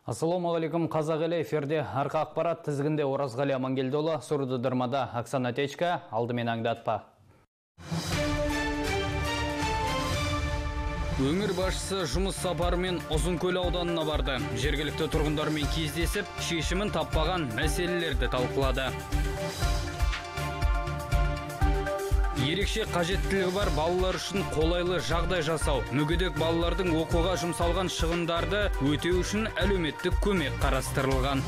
Ассалаумағалейкум, қазақ елі, эфирде арқа ақпарат, тізгінде Оразғали Амангелдіұлы, сұрды дырмада Оксана Течка, алдымен аңдатпа. Өңір басшысы жұмыс сапарымен Ұзынкөл ауданына барды. Жергілікті тұрғындармен кездесіп, шешімін таппаған мәселелерді талқылады. Ерекше қажеттілігі бар балалар үшін қолайлы жағдай жасау, мүгедек балалардың оқуға жұмсалған шығындарды өтеу үшін әлеуметтік көмек қарастырылған.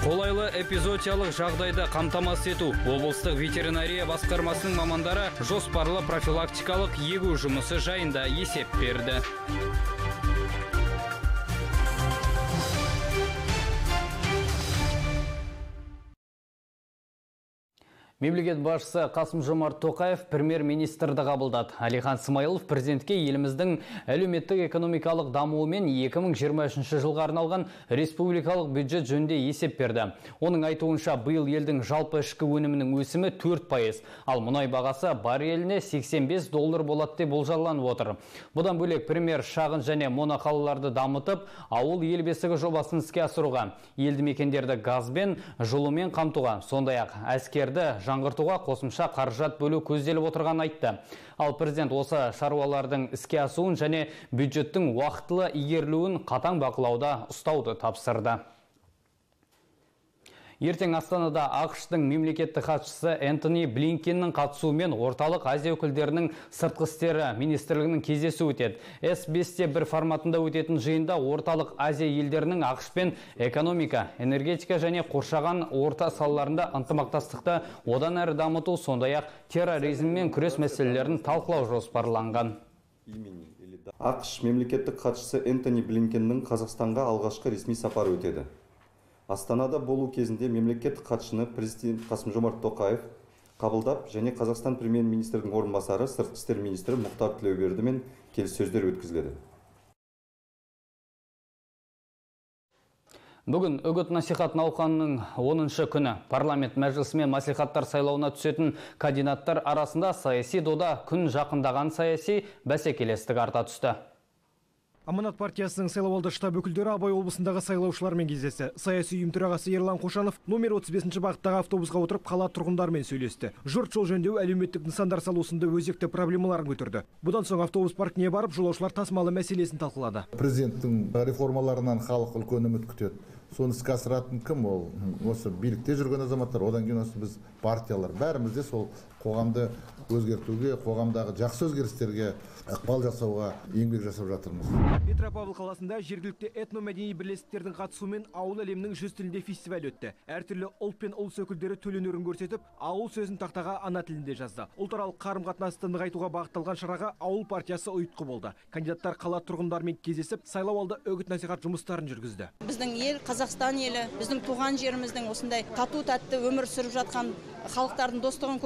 Қолайлы эпизоотиялық жағдайды қамтамасыз ету, облыстық ветеринария басқармасының мамандары жоспарлы профилактикалық егу жұмысы жайында есеп берді. Мемлекет басшысы Қасым-Жомарт Тоқаев премьер-министрді қабылдады. Әлихан Смайылов президентке еліміздің әлеуметтік экономикалық дамуы мен 2023 жылға арналған республикалық бюджет жөнінде есеп берді. Оның айтуынша биыл елдің жалпы ішкі өнімінің өсімі 4%, ал мұнай бағасы барреліне $85 болады деп болжаланып отыр. Бұдан бөлек премьер шағын және моноқалаларды дамытып, ауыл ел бесігі жобасын іске асыруға, елді мекендерді газбен, жылумен қамтуға, сондай-ақ әскерді жаңғыртуға қосымша қаржат бөлу көзделіп отырған айтты. Ал президент осы шаруалардың іске асуын және бюджеттің уақытылы игерілуін қатаң бақылауда ұстауды тапсырды. Ертең Астанада ақш-тың мемлекеттік хатшысы Энтони Блинкеннің қатысуымен орталық Азия өкілдерінің сыртқы істері министрлігінің кездесуі өтеді. С5-1 форматында өтетін жиында орталық Азия елдерінің ақшпен экономика, энергетика және қоршаған орта салаларында ынтымақтастықты одан әрі дамыту, сондай-ақ терроризммен күрес мәселелерін талқылау жоспарланған. ақш мемлекеттік хатшысы Энтони Блинкеннің Қазақстанға алғашқы ресми сапары өтеді. Астанада болу кезінде мемлекеттік хатшыны президент Қасым-Жомарт Тоқаев қабылдап, және Қазақстан премьер-министрдің орынбасары сыртқы істер министрі Мұхтар Тілеубердімен келіссөздер өткізіледі. Бүгін үгіт-насихат науқанының 10-шы күні парламент мәжілісі мен мәслихаттар сайлауына түсетін кандидаттар арасында саяси дода күн жақындаған саяси бәсекелестік арта түсті. Аманат партиясының сайлауалды штаб өкілдері Абай облысындағы сайлаушылармен кездесті. Саяси ұйым төрағасы Ерлан Қошанов номер 35-ші бағыттағы автобусқа отырып қала тұрғындарымен сөйлесті. Жұрт жол жөндеу, әлеуметтік нысандар салусында өзекті проблемаларын көтерді. Бұдан соң автобус паркіне барып, жолаушылар тасымалы мәселесін талқылады. Президенттің реформаларынан халық үлкен үміт күтеді. Соны іске асыратын кім? Ол осы билікте жүрген азаматтар, одан кейін осы біз партиялар, бәріміз де сол қоғамды өзгертуге, қоғамдағы жақсы өзгерістерге ықпал жасауға еңбек жасап жатырмыз. Петропавл қаласында жергілікті этномәдени бірлестіктердің қатысуымен ауыл әлемінің 100 тілінде фестиваль өтті. Әртүрлі ұлт пен ұлыс өкілдері төл өнерін көрсетіп, ауыл сөзін тақтаға ана тілінде жазды. Ұлтаралық қарым-қатынасты нығайтуға бағытталған шараға ауыл партиясы ұйытқы болды. Кандидаттар қала тұрғындарымен кездесіп, сайлауалды үгіт-насихат жұмыстарын жүргізді. Біздің ел Қазақстан елі, біздің туған жеріміздің осындай тату-тәтті өмір сүріп жатқан халықтардың достығын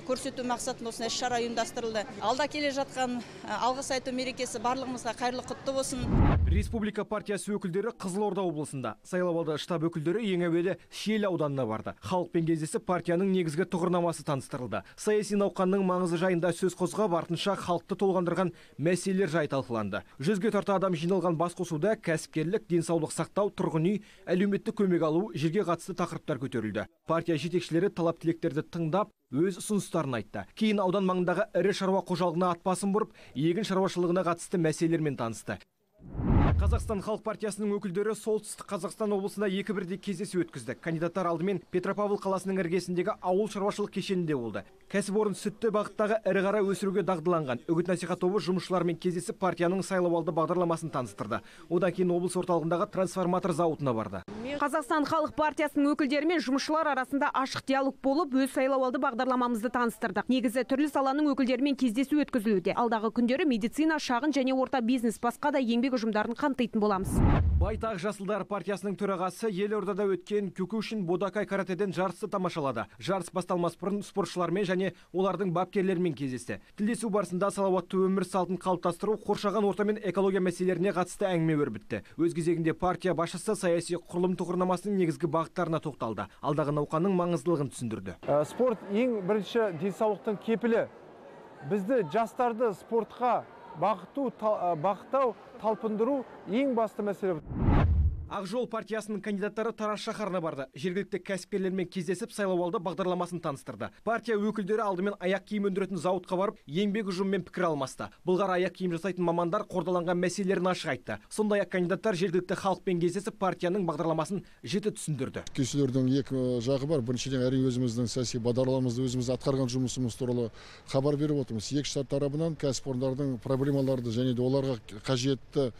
көрсету мақсатында осындай шара ұйымдастырылды. Алда келе жатқан алғыс айту мерекесі барлығымызға қайырлы құтты болсын. Республика партиясы өкілдері Қызылорда облысында, сайлауалды штаб өкілдері ең әуелі Шиелі ауданына барды. Халықпен кездесіп партияның негізгі тұғырнамасы таныстырылды. Саяси науқанның маңызы жайында сөз қозғап, артынша халықты толғандырған мәселелер жайы талқыланды. 100-ге тарта адам жиналған басқосуда кәсіпкерлік, денсаулық сақтау, тұрғын үй, әлеуметтік көмек алу, жерге қатысты тақырыптар көтерілді. Партия жетекшілері талап тілектерді тыңдап, өз ұсыныстарын айтты. Кейін аудан маңындағы ірі шаруа қожалығына ат басын бұрып, егін шаруашылығына қатысты мәселелермен танысты. Қазақстан халық партиясының өкілдері солтүстік Қазақстан облысында 2-1 кездесу өткізді. Кандидаттар алдымен Петропавл қаласының іргесіндегі ауыл шаруашылық кешенінде болды. Кәсіпорын сүтті бағыттағы ірі қара өсіруге дағдыланған. Үгіт-насихат тобы жұмысшылармен кездесіп партияның сайлауалды бағдарламасын таныстырды. Одан кейін облыс орталығындағы трансформатор зауытына барды. Қазақстан халық партиясының өкілдері мен жұмысшылар арасында ашық диалог болып, өз сайлауалды бағдарламамызды таныстырдық. Негізі түрлі саланың өкілдерімен кездесу өткізілуде. Алдағы күндері медицина, шағын және орта бизнес, басқа да еңбек ұжымдарын қамтитын боламыз. Байтақ Жасылдар партиясының төрағасы елордада өткен Кюкушин Бодакай каратеден жарысты тамашалады. Жарыс басталмас бұрын спортшылармен және олардың бапкерлерімен кездесті. Тілдесу барысында салауатты өмір салтын қалыптастыру, қоршаған орта мен экология мәселелеріне қатысты әңгіме өрбітті. Өз кезегінде партия басшысы саяси құрылым тұғырнамасының негізгі бағыттарына тоқталды. Алдағы науқанның маңыздылығын түсіндірді. Спорт ең бірінші денсаулықтың кепілі. Бізді жастарды спортқа бақытау, талпындыру ең басты мәселе. Ақжол партиясының кандидаттары Тараз шаһарына барды. Жергілікті кәсіпкерлермен кездесіп сайлауалды бағдарламасын таныстырды. Партия өкілдері алдымен аяқ киім өндіретін зауытқа барып, еңбек ұжымымен пікір алмасты. Бұлғар аяқ киім жасайтын мамандар қордаланған мәселелерін ашық айтты. Сондай-ақ кандидаттар жергілікті халықпен кездесіп партияның бағдарламасын жіті түсіндірді. Кездесулердің екі жағы бар. Біріншіден әрине өзіміздің саяси бағдарламамызды, өзіміз атқарған жұмысымыз туралы хабар беріп отырмыз. Екі тарабынан кәсіпорындардың проблемаларды және де оларға қажетті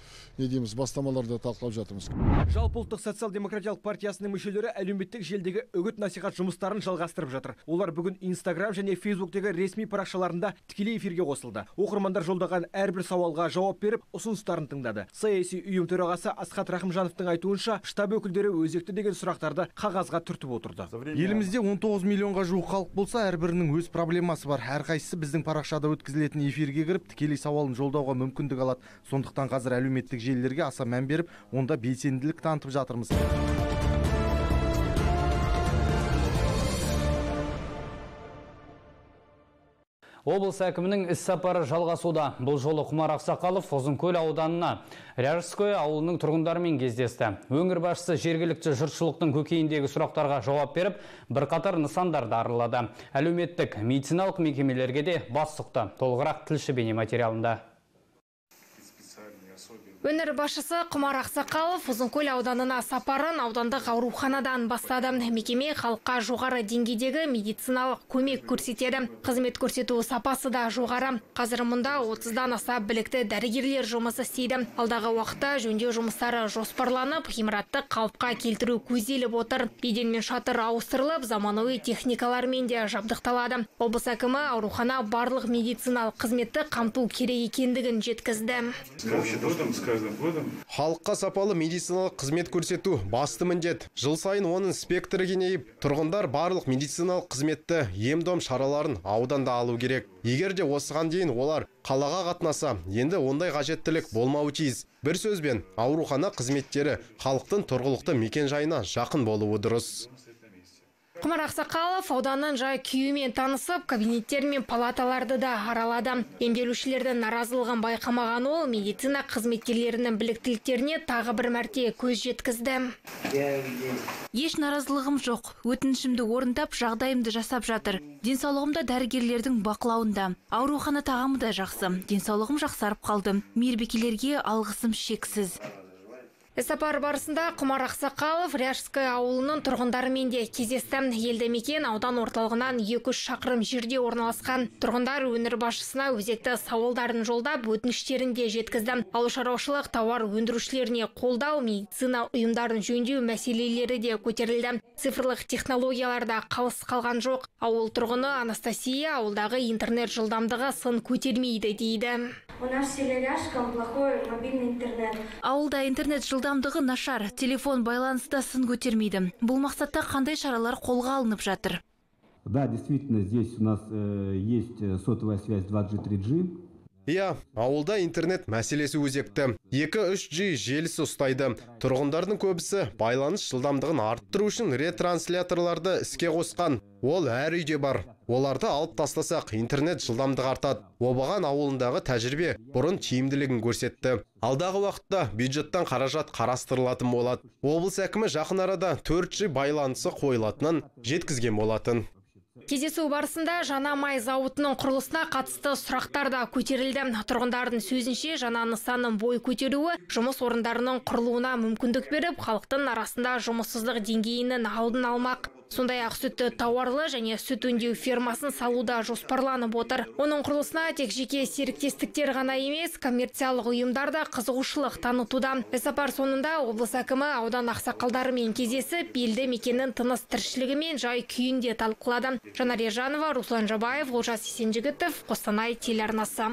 бастамаларды талқылап жатырмыз. Жалпыұлттық социал-демократиялық партиясының мүшелері әлеуметтік желдегі үгіт насихат жұмыстарын жалғастырып жатыр. Олар бүгін Инстаграм және Фейсбуктегі ресми парақшаларында тікелей эфирге қосылды. Оқырмандар жолдаған әрбір сауалға жауап беріп, ұсыныстарын тыңдады. Саяси ұйым төрағасы Асхат Рахымжановтың айтуынша, штаб өкілдері өзекті деген сұрақтарды қағазға түртіп отырды. Елімізде 19 миллионға жуық халық болса, әрбірінің өз проблемасы бар. Әрқайсысы біздің парақшада өткізілетін эфирге кіріп, тікелей сауалын жолдауға мүмкіндік алады. Сондықтан қазір әлеуметтік желілерге аса мән беріп, онда белсенділік танытып жатырмыз. Облыс әкімінің іс-сапары жалғасуда. Бұл жолы Құмар Ақсақалов Ұзынкөл ауданына Ряжское ауылының тұрғындарымен кездесті. Өңір басшысы жергілікті жұртшылықтың көкейіндегі сұрақтарға жауап беріп, бірқатар нысандарды аралады. Әлеуметтік медициналық мекемелерге де бас сұқты. Толығырақ тілші бейнематериалында. Өңір басшысы Құмар Ақсақалов Ұзынкөл ауданына сапарын аудандық ауруханадан бастады. Мекеме халыққа жоғары деңгейдегі медициналық көмек көрсетеді. Қызмет көрсету сапасы да жоғары. Қазір мұнда 30-дан аса білікті дәрігерлер жұмысы істейді. Алдағы уақытта жөндеу жұмыстары жоспарланып, ғимаратты қалыпқа келтіру көзделіп отыр. Еден мен шатыр ауыстырылып, заманауи техникалармен де жабдықталады. Облыс әкімі аурухана барлық медициналық қызметті қамту керек екендігін жеткізді. Халыққа сапалы медициналық қызмет көрсету басты міндет. Жыл сайын оның спектрі кеңейіп, тұрғындар барлық медициналық қызметті, ем-дом шараларын ауданда алу керек. Егер де осыған дейін олар қалаға қатынаса, енді ондай қажеттілік болмауы тиіс. Бір сөзбен, аурухана қызметтері халықтың тұрғылықты мекен-жайына жақын болуы дұрыс. Құмар Ақсақалов ауданның жай күйімен танысып, кабинеттер мен палаталарды да аралады. Емделушілердің наразылығын байқамаған ол медицина қызметкерлерінің біліктіліктеріне тағы бір мәрте көз жеткізді. Еш наразылығым жоқ. Өтінішімді орындап, жағдайымды жасап жатыр. Денсаулығымда дәрігерлердің бақылауында. Аурухана тағамы да жақсы. Денсаулығым жақсарып қалды. Мейірбикелерге алғысым шексіз. Іс-сапар барысында Құмар Ақсақалов Ряжское ауылының тұрғындарымен де кездесті. Елді мекен аудан орталығынан 2-3 шақырым жерде орналасқан. Тұрғындар өңір басшысына өзекті сауалдарын жолдап, өтініштерін де жеткізді. Ауыл шаруашылық тауар өндірушілеріне қолдау, медицина ұйымдарын жөндеу мәселелері де көтерілді. Цифрлық технологияларда қалыс қалған жоқ. Ауыл тұрғыны Анастасия ауылдағы интернет жылдамдығы сын көтермейді дейді. У нас в селе Ряжском плохой мобильный интернет. Ауылда интернет жылдамдығы нашар, телефон байланыста сын көтермейді. Бұл мақсатта қандай шаралар қолға алынып жатыр? Да, действительно, здесь у нас есть сотовая связь 2G, 3G. Иә, ауылда интернет мәселесі өзекті. 2-3G желісі ұстайды. Тұрғындардың көбісі байланыс жылдамдығын арттыру үшін ретрансляторларды іске қосқан. Ол әр үйде бар. Оларды алып тастасақ, интернет жылдамдығы артады. Обаған ауылындағы тәжірибе бұрын тиімділігін көрсетті. Алдағы уақытта бюджеттен қаражат қарастырылатын болады. Облыс әкімі жақын арада 4G байланысы қойылатынын жеткізген болатын. Кездесу барысында жаңа май зауытының құрылысына қатысты сұрақтар да көтерілді. Тұрғындардың сөзінше жаңа нысанның бой көтеруі жұмыс орындарының құрылуына мүмкіндік беріп, халықтың арасында жұмыссыздық деңгейінің алдын алмақ. Сондай-ақ сүтті тауарлы және сүт өңдеу фермасын салуда жоспарланып отыр. Оның құрылысына тек жеке серіктестіктер ғана емес, коммерциялық ұйымдар да қызығушылық танытуда. Іс-сапар соңында облыс әкімі аудан ақсақалдарымен кездесіп, елді мекеннің тыныс тіршілігі мен жай күйін де талқылады. Жанар Ержанова, Руслан Жабаев, Олжас Есенжігітов, Қостанай телеарнасы.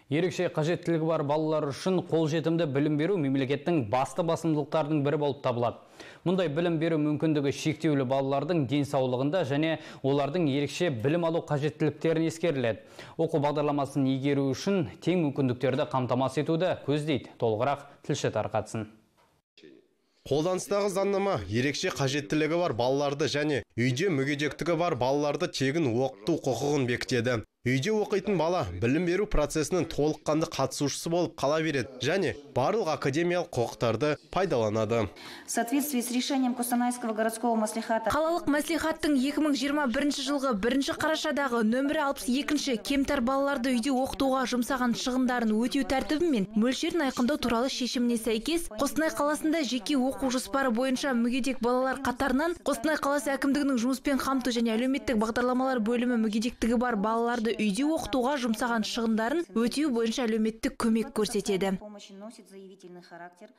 Ерекше қажеттілігі бар балалар үшін қолжетімді білім беру мемлекеттің басты басымдылықтардың бірі болып табылады. Мұндай білім беру мүмкіндігі шектеулі балалардың денсаулығында және олардың ерекше білім алу қажеттіліктерін ескеріледі. Оқу бағдарламасын игеру үшін тең мүмкіндіктерді қамтамасыз етуді көздейді. Толығырақ тілші тарқатсын. Қолданыстағы заңнама ерекше қажеттілігі бар балаларды және үйде мүгедектігі бар балаларды тегін оқыту құқығын бекітеді. Үйде оқитын бала білім беру процесінің толыққанды қатысушысы болып қала береді және барлық академиялық құқықтарды пайдаланады. В соответствии с решением Костанайского городского маслихата Қалалық мәслихаттың 2021 жылғы 1 қарашадағы нөмірі 62 кемтар балаларды үйде оқытуға жұмсаған шығындарын өтеу тәртібі мен мөлшерін айқындау туралы шешіміне сәйкес, Қостанай қаласында жеке оқу жоспары бойынша мүгедек балалар қатарынан Қостанай қаласы әкімдігінің жұмыспен қамту және әлеуметтік бағдарламалар бөлімі мүгедектігі бар балаларды үйде оқытуға жұмсаған шығындарын өтеу бойынша әлеуметтік көмек көрсетеді.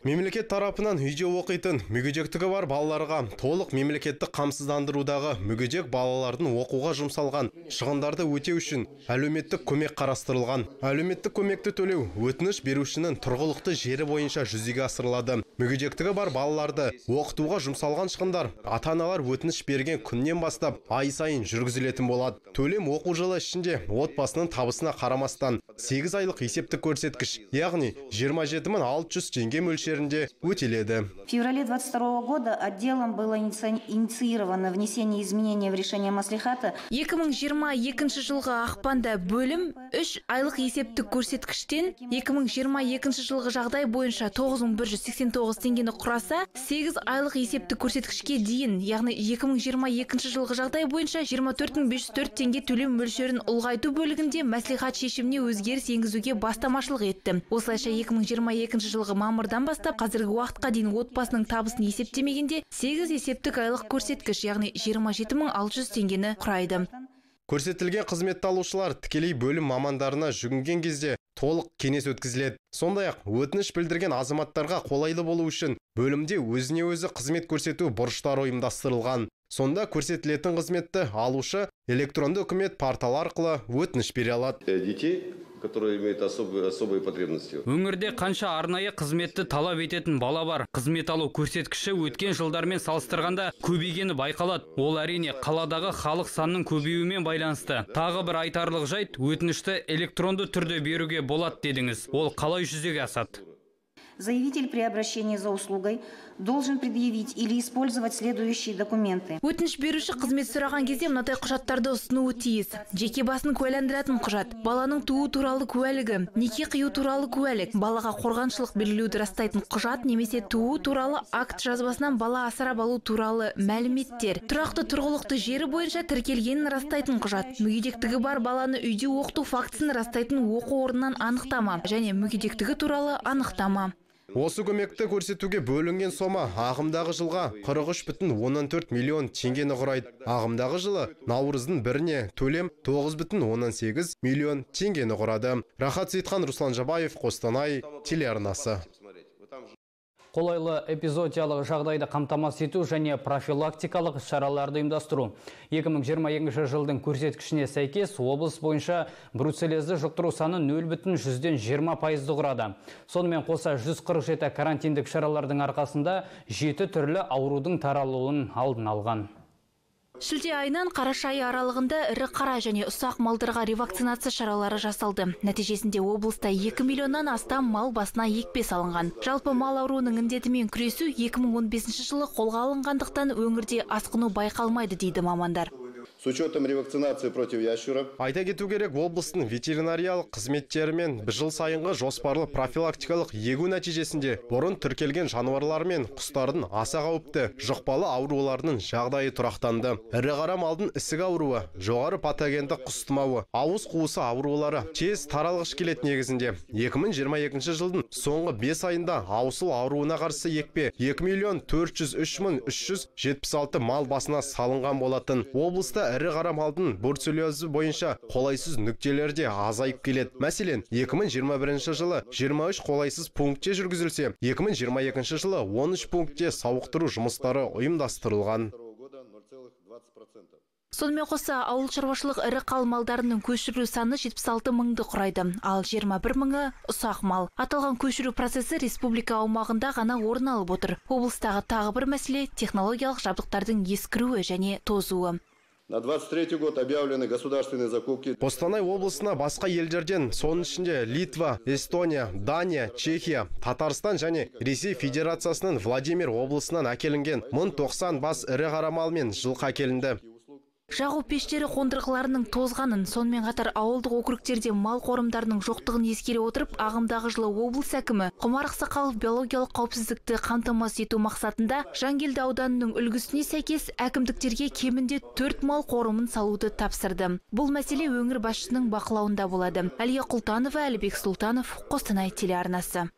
Мемлекет тарапынан үйде оқитын мүгедектігі бар балаларға толық мемлекеттік қамсыздандырудағы мүгедек балалардың оқуға жұмсалған шығындарды өтеу үшін әлеуметтік көмек қарастырылған. Әлеуметтік көмекті төлеу өтініш берушінің тұрғылықты жері бойынша жүзеге асырылады. Мүгедектігі бар балаларды оқытуға жұмсалған шығындар ата-аналар өтініш берген күннен бастап ай сайын жүргізілетін болады. Төлем оқу жылы ішінде отбасының табысына қарамастан 8 айлық есептік көрсеткіш, яғни 27.600 теңге мөлшерінде өтеледі. В феврале 22 года отделом было инициировано внесение изменений в решение маслихата. 2022 жылғы ақпанда бөлім 3 айлық есептік көрсеткіштен 2022 жылғы жағдай бойынша 9189 теңгені құраса, 8 айлық есептік көрсеткішке дейін, яғни 2022 жылғы жағдай бойынша 24504 теңге төлем мөлшерін ұлғайту бөлігінде мәслихат шешіміне өзгеріс енгізуге бастамашылық етті. Осылайша 2022 жылғы мамырдан бастап қазіргі уақытқа дейін отбасының табысын есептемегенде 8 есептік айлық көрсеткіш, яғни 27600 теңгені құрайды. Көрсетілген қызметті алушылар тікелей бөлім мамандарына жүгінген кезде толық кеңес өткізіледі. Сондай-ақ өтініш білдірген азаматтарға қолайлы болу үшін бөлімде өзіне өзі қызмет көрсету бұрыштары ұйымдастырылған. Сонда көрсетілетін қызметті алушы электронды үкімет порталы арқылы өтініш бере алады. Детей, которые имеют особые потребности. Өңірде қанша арнайы қызметті талап ететін бала бар. Қызмет алу көрсеткіші өткен жылдармен салыстырғанда көбейгені байқалады. Ол әрине қаладағы халық санының көбеюімен байланысты. Тағы бір айтарлық жайт, өтінішті электронды түрде беруге болады дедіңіз. Ол қалай жүзеге асады? Заявитель при обращении за услугой должен предъявить или использовать следующие документы. Өтініш беруші қызмет сұраған кезде мынадай құжаттарды ұсынуы тиіс. Жеке басын куәландыратын құжат, баланың туу туралы куәлігі, неке қию туралы куәлік, балаға қорғаншылық белгілеуді растайтын құжат немесе туу туралы акт жазбасынан бала асырап алу туралы мәліметтер, тұрақты тұрғылықты жері бойынша тіркелгенін растайтын құжат, мүгедектігі бар баланы үйде оқыту фактісін растайтын оқу орнынан анықтама және мүгедектігі туралы анықтама. Осы көмекті көрсетуге бөлінген сома ағымдағы жылға 43,14 миллион теңгені құрайды. Ағымдағы жылы наурыздың 1-не төлем 9,18 миллион теңгені құрады. Рахат Сейтхан, Руслан Жабаев, Қостанай телеарнасы. Қолайлы эпизодиялық жағдайды қамтамасыз ету және профилактикалық шараларды ұйымдастыру. 2022 жылдың көрсеткішіне сәйкес облыс бойынша бруцеллезді жұқтыру саны 0,20% құрады. Сонымен қоса 147 карантиндік шаралардың арқасында 7 түрлі аурудың таралуын алдын алған. Шілде айынан қараша айы аралығында ірі қара және ұсақ малдарға ревакцинация шаралары жасалды. Нәтижесінде облыста 2 миллионнан астам мал басына екпе салынған. Жалпы мал ауруының індетімен күресу 2015 жылы қолға алынғандықтан өңірде асқыну байқалмайды дейді мамандар. С учетом ревакцинации против ящура. Айта кету керек, облыстың ветеринариялық қызметтерімен жыл сайынғы жоспарлы профилактикалық егу нәтижесінде бұрын тіркелген жануарлар мен құстардың аса қауіпті жұқпалы ауруларының жағдайы тұрақтанды. Ірі қара малдың ісік ауруы, жоғары патогенді құс тұмауы, ауыз қуысы аурулары тез таралғыш келетін негізінде 2022 жылдың соңғы 5 айында аусыл ауруына қарсы екпе 2,403,376 мал басына салынған болатын. Облыста ірі қара малдың бруцеллезі бойынша қолайсыз нүктелерде азайып келеді. Мәселен, 2021 жылы 23 қолайсыз пунктте жүргізілсе, 2022 жылы 13 пунктте сауықтыру жұмыстары ұйымдастырылған. Сонымен қоса ауыл шаруашылық ірі қал малдарының көшіру саны 76 мыңды құрайды, ал 21 мыңы ұсақ мал. Аталған көшіру процесі республика аумағында ғана орын алып отыр. Облыстағы тағы бір мәселе технологиялық жабдықтардың ескіруі және тозуы. На 23 год объявлены государственные закупки. Қостанай облысына басқа елдерден, соның ішінде Литва, Эстония, Дания, Чехия, Татарстан және Ресей Федерациясының Владимир облысынан әкелінген 1090 бас ірі қара мал мен жылқы әкелінді. Жағу пештері қондырғыларының тозғанын, сонымен қатар ауылдық округтерде мал қорымдарының жоқтығын ескере отырып, ағымдағы жылы облыс әкімі Құмар Ақсақалов биологиялық қауіпсіздікті қамтамасыз ету мақсатында Жангелді ауданының үлгісіне сәйкес әкімдіктерге кемінде 4 мал қорымын салуды тапсырды. Бұл мәселе өңір басшысының бақылауында болады. Әлия Құлтанова, Әлібек Сұлтанов, Қостанай телеарнасы.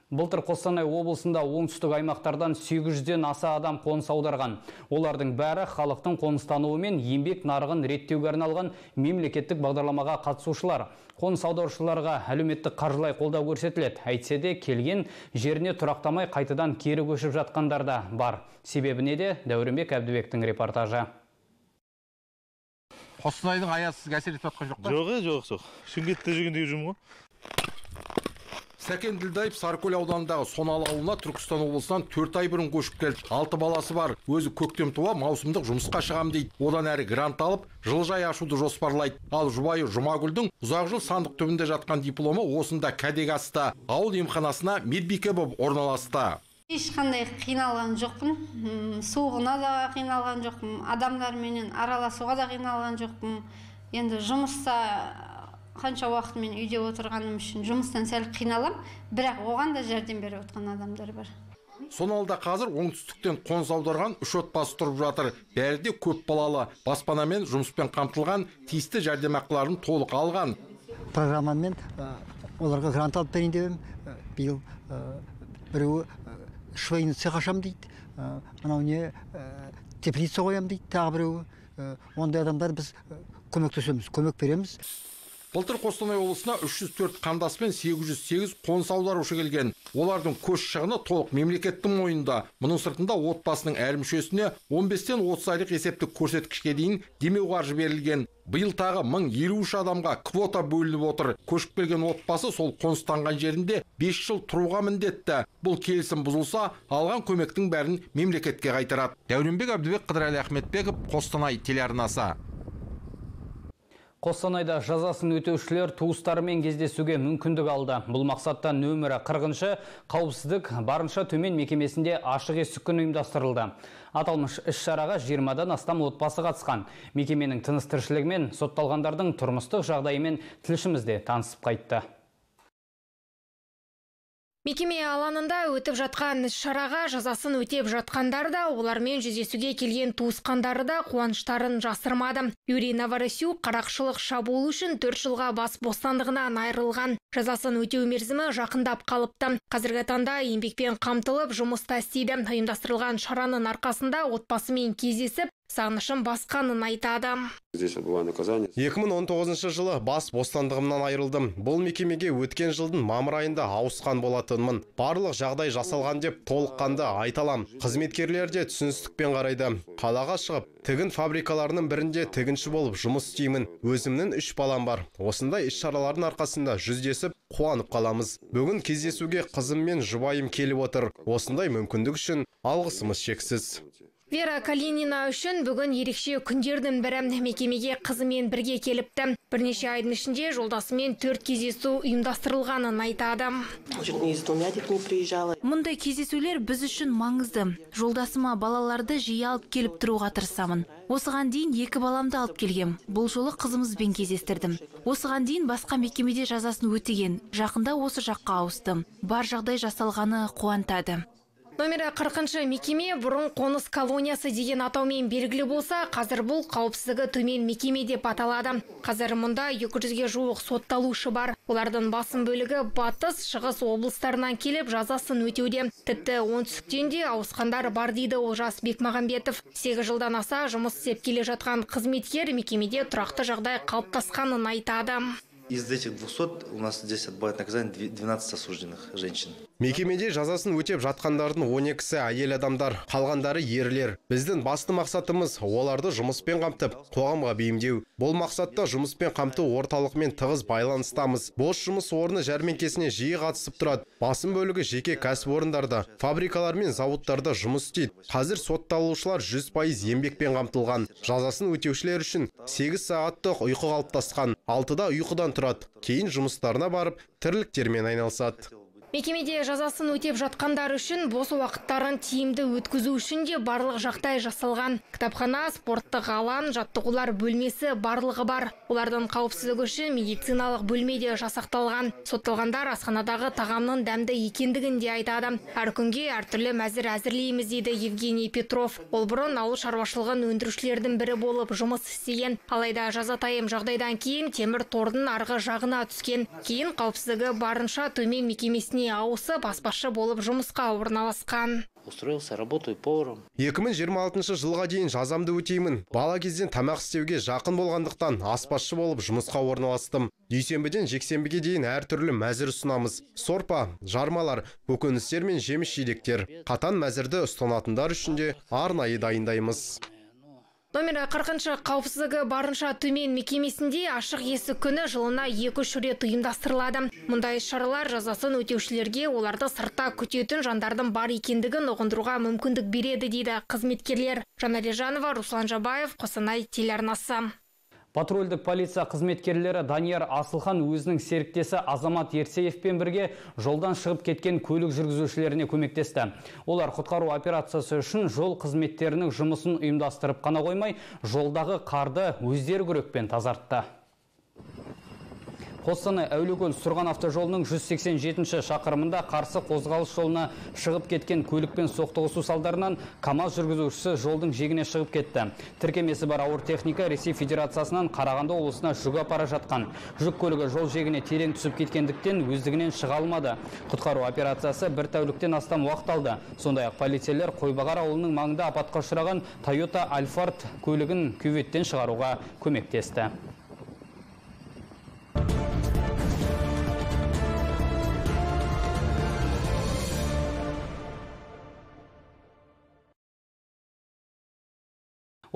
Былтыр Қостанай облысында оңтүстік аймақтардан 800-ден аса адам қоныс аударған. Олардың бәрі халықтың қоныстануы мен еңбек нарығын реттеуге арналған мемлекеттік бағдарламаға қатысушылар. Қоныс аударушыларға әлеуметтік қаржылай қолдау көрсетіледі. Әйтсе де келген жеріне тұрақтамай қайтадан кері көшіп жатқандар да бар. Себебі неде? Дәуренбек Әбдібектің репортажы. Қостанайдың аясыз әсер етіп жатқан жоқ па? Жоқ. Шымкентте жүргендегі жұмыс ғой. Сәкен Ділдаев Сарыкөл ауданындағы Соналы ауылына Түркістан облысынан 4 ай бұрын көшіп келді. 6 баласы бар. Өзі көктем туа маусымдық жұмысқа шығам дейді. Одан әрі грант алып, жылыжай ашуды жоспарлайды. Ал жұбайы Жұмагүлдің ұзақ жыл сандық түбінде жатқан дипломы осында кәдеге асты. Ауыл емханасына медбике болып орналасты. Ешқандай қиналған жоқпын. Суығына да қиналған жоқпын. Адамдарменен араласуға да қиналған жоқпын. Енді жұмыста қанша уақыт мен үйде отырғаным үшін жұмыстан сәл қиналам, бірақ оған да жәрдем беріп отқан адамдар бар. Соналда қазір оңтүстіктен қоныс аударған 3 отбасы тұрып жатыр. Бәрі де көп балалы, баспанамен, жұмыспен қамтылған, тиісті жәрдемақыларын толық алған. Программамен оларға грант алып берейін деп едім. Биыл біреуі швейный цех ашам дейді. Анау не теплица қоям дейді, тағы біреуі. Ондай адамдар біз көмектесеміз, көмек береміз. Былтыр Қостанай облысына 304 қандас пен 808 қоныс аударушы келген. Олардың көш шығыны толық мемлекеттің мойнында. Мұның сыртында отбасының әр мүшесіне 15-тен 30 айлық есептік көрсеткішке дейін демеу қаржы берілген. Биыл тағы 1053 адамға квота бөлініп отыр. Көшіп келген отбасы сол қоныстанған жерінде 5 жыл тұруға міндетті. Бұл келісім бұзылса, алған көмектің бәрін мемлекетке қайтарады. Дәуренбек Әбдібек, Қыдырәлі Ахметбеков, Қостанай телеарнасы. Қостанайда жазасын өтеушілер туыстарымен кездесуге мүмкіндік алды. Бұл мақсатта нөмірі 40-шы қауіпсіздік барынша төмен мекемесінде ашық есік күні ұйымдастырылды. Аталмыш іс-шараға 20-дан астам отбасы қатысқан. Мекеменің тыныс-тіршілігімен сотталғандардың тұрмыстық жағдайымен тілшімізде танысып қайтты. Мекеме алаңында өтіп жатқан іс-шараға жазасын өтеп жатқандар да, олармен жүздесуге келген туысқандары да қуаныштарын жасырмады. Юрий Новоросюк қарақшылық шабуыл үшін 4 жылға бас бостандығынан айырылған. Жазасын өтеу мерзімі жақындап қалыпты. Қазіргі таңда еңбекпен қамтылып жұмыста істейді. Ұйымдастырылған шараның арқасында отбасымен кездесіп, сағынышын басқанын айтады. 2019 жылы бас бостандығымнан айырылдым. Бұл мекемеге өткен жылдың мамыр айында ауысқан болатынмын. Барлық жағдай жасалған деп толыққанды айталам. Қызметкерлер де түсіністікпен қарайды. Қалаға шығып, тігін фабрикаларының бірінде тігінші болып жұмыс істеймін. Өзімнің 3 балам бар. Осындай іс-шаралардың арқасында жүздесіп, қуанып қаламыз. Бүгін кездесуге қызым мен жұбайым келіп отыр. Осындай мүмкіндік үшін алғысымыз шексіз. Вера Калинина үшін бүгін ерекше күндердің бірі. Мекемеге қызымен бірге келіпті. Бірнеше айдың ішінде жолдасымен 4 кездесу ұйымдастырылғанын айтады. Мұндай кездесулер біз үшін маңызды. Жолдасыма балаларды жиі алып келіп тұруға тырысамын. Осыған дейін 2 баламды алып келгем. Бұл жолы қызымызбен кездестірдім. Осыған дейін басқа мекемеде жазасын өтеген. Жақында осы жаққа ауыстым. Бар жағдай жасалғаны қуантады. Номері 40-шы мекеме бұрын қоныс колониясы деген атаумен белгілі болса, қазір бұл қауіпсіздігі төмен мекеме деп аталады. Қазір мұнда 200-ге жуық сотталушы бар. Олардың басым бөлігі батыс, шығыс облыстарынан келіп жазасын өтеуде. Тіпті оңтүстіктен де ауысқандар бар дейді Олжас Бекмағамбетов. 8 жылдан аса жұмыс істеп келе жатқан қызметкер мекемеде тұрақты жағдай қалыптасқанын айтады. Из этих 200 у нас здесь отбывает наказание 12 осужденных женщин. Мекемеде жазасын өтеп жатқандардың 12-сі әйел адамдар, қалғандары ерлер. Біздің басты мақсатымыз оларды жұмыспен қамтып, қоғамға бейімдеу. Бұл мақсатта жұмыспен қамту орталығымен тығыз байланыстамыз. Бос жұмыс орны жәрмеңкесіне жиі қатысып тұрады. Басым бөлігі жеке кәсіпорындарда, фабрикалар мен зауыттарда жұмыс істейді. Қазір сотталушылар 100% еңбекпен қамтылған. Жазасын өтеушілер үшін 8 сағаттық ұйқы қалыптасқан. 6-да ұйқыдан тұрады. Кейін жұмыстарына барып, тірліктермен айналысады. Мекемеде жазасын өтеп жатқандар үшін бос уақыттарын тиімді өткізу үшін де барлық жағдай жасалған. Кітапхана, спорттық алаң, жаттығулар бөлмесі барлығы бар. Олардың қауіпсіздігі үшін медициналық бөлмеде жасақталған. Сотталғандар асханадағы тағамның дәмді екендігін де айтады. Әр күнге әртүрлі мәзір әзірлейміз дейді Евгений Петров. Ол бұрын ауыл шаруашылығын өндірушілердің бірі болып жұмыс істеген. Алайда жазатайым жағдайдан кейін темір тордың арғы жағына түскен. Кейін қауіпсіздігі барынша төмен мекемесіне ауысып аспазшы болып жұмысқа орналасқан. Устроился, работаю поваром. 2026 жылға дейін жазамды өтеймін. Бала кезден тамақ істеуге жақын болғандықтан аспазшы болып жұмысқа орналастым. Дүйсенбіден жексенбіге дейін әртүрлі мәзір ұсынамыз. Сорпа, жармалар, көкөністер мен жеміс жидектер. Қатан мәзірді ұстанатындар үшін де арнайы дайындаймыз. Номері 40 қауіпсіздігі барынша төмен мекемесінде ашық есік күні жылына 2-3 рет ұйымдастырылады. Мұндай шаралар жазасын өтеушілерге оларды сыртта күтетін жандардың бар екендігін ұғындыруға мүмкіндік береді дейді қызметкерлер. Жанна Лежанова, Руслан Жабаев, Қостанай телеарнасы. Патрульдік полиция қызметкерлері Данияр Асылхан өзінің серіктесі Азамат Ерсеевпен бірге жолдан шығып кеткен көлік жүргізушілеріне көмектесті. Олар құтқару операциясы үшін жол қызметтерінің жұмысын ұйымдастырып қана қоймай, жолдағы қарды өздері күрекпен тазартты. Қостанай Әулиекөл Сұрған автожолының 187 шақырымында қарсы қозғалыс жолына шығып кеткен көлікпен соқтығысу салдарынан КАМАЗ жүргізушісі жолдың жиегіне шығып кетті. Тіркемесі бар ауыр техника Ресей Федерациясынан Қарағанды облысына жүк апара жатқан. Жүк көлігі жол жиегіне терең түсіп кеткендіктен өздігінен шыға алмады. Құтқару операциясы бір тәуліктен астам уақыт алды. Сондай-ақ полицейлер Қойбағар ауылының маңында апатқа ұшыраған Toyota Alphard көлігін кюветтен шығаруға көмектесті.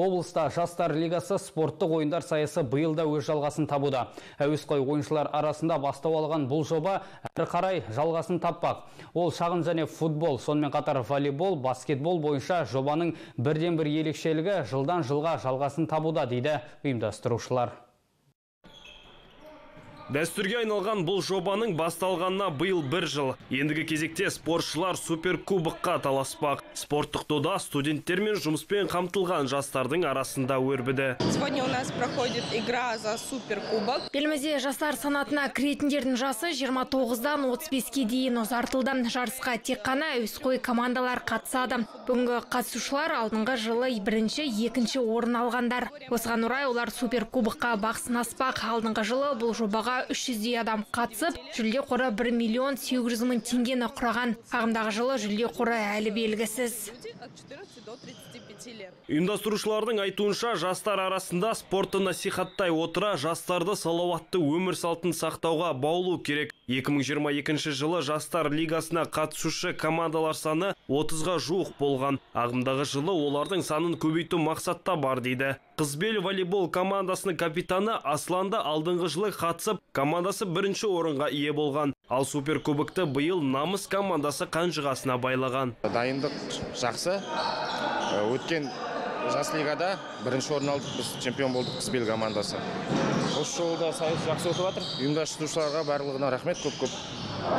Облыста жастар лигасы спорттық ойындар сайысы биылда өз жалғасын табуда. Әуесқой ойыншылар арасында бастау алған бұл жоба әрі қарай жалғасын таппақ. Ол шағын және футбол, сонымен қатар волейбол, баскетбол бойынша жобаның бірден-бір ерекшелігі жылдан жылға жалғасын табуда дейді ұйымдастырушылар. Дәстүрге айналған бұл жобаның басталғанына биыл 1 жыл. Ендігі кезекте спортшылар суперкубокқа таласпақ. Спорттық дода студенттер мен жұмыспен қамтылған жастардың арасында өрбіді. Сегодня у нас проходит игра за суперкубок. Елімізде жастар санатына кіретіндердің жасы 29-дан 35-ке дейін ұзартылды. Жарысқа тек қана әуесқой командалар қатысады. Бүгінгі қатысушылар алдыңғы жылы 1-ші, 2-ші орын алғандар. Осыған орай олар суперкубокқа бақ сынаспақ. Алдыңғы жылы бұл жобаға 300 адам қатысып, жүлде қоры 1 миллион 800 мың теңгені құраған. Ағымдағы жылы жүлде қоры әлі белгісіз. Ұйымдастырушылардың айтуынша жастар арасында спортты насихаттай отыра жастарды салауатты өмір салтын сақтауға баулу керек. 2022 жылы жастар лигасына қатысушы командалар саны 30-ға жуық болған. Ағымдағы жылы олардың санын көбейту мақсатта бар дейді. Қызбел волейбол командасының капитаны Асланда алдыңғы жылы қатысып, командасы 1-ші орынға ие болған. Ал суперкубокты биыл намыс командасы қанжығасына байлаған. Дайындық жақсы. Өткен жас лигада 1-ші орын алдық, біз чемпион болдық Қызбел командасы. Осы жолда сайыс жақсы өтіп жатыр. Ұйымдастырушыларға барлығына рахмет көп-көп.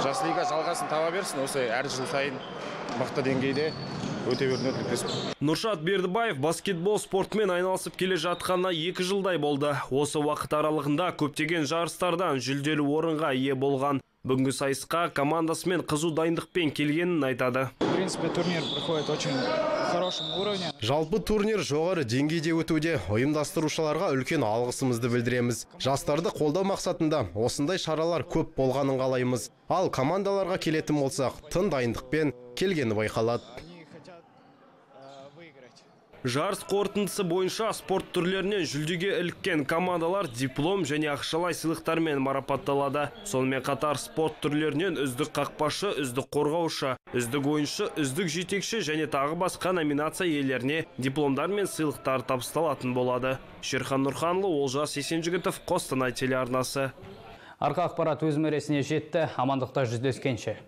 Жас лига жалғасын таба берсін, осы әр жыл сайын мықты деңгейде өте беруіне тілектеспін. Нұршат Бердібаев баскетбол спортымен айналысып келе жатқанына 2 жылдай болды. Осы уақыт аралығында көптеген жарыстардан жүлделі орынға ие болған. Бүгінгі сайысқа командасымен қызу дайындықпен келгенін айтады. В принципе, турнир проходит очень хорошем уровне. Жалпы турнир жоғары деңгейде өтуде. Ұйымдастырушыларға үлкен алғысымызды білдіреміз. Жастарды қолдау мақсатында осындай шаралар көп болғанын қалаймыз. Ал командаларға келетін болсақ, тың дайындықпен келгені байқалады. Жарыс қорытындысы бойынша спорт түрлерінен жүлдеге іліккен командалар диплом және ақшалай сыйлықтармен марапатталады. Сонымен қатар спорт түрлерінен үздік қақпашы, үздік қорғаушы, үздік ойыншы, үздік жетекші және тағы басқа номинация иелеріне дипломдар мен сыйлықтар табысталатын болады. Шерхан Нұрханлы, Олжас Есенжігітов, Қостанай телеарнасы. Арқа ақпарат өз мәресіне жетті. Амандықта жүздескенше.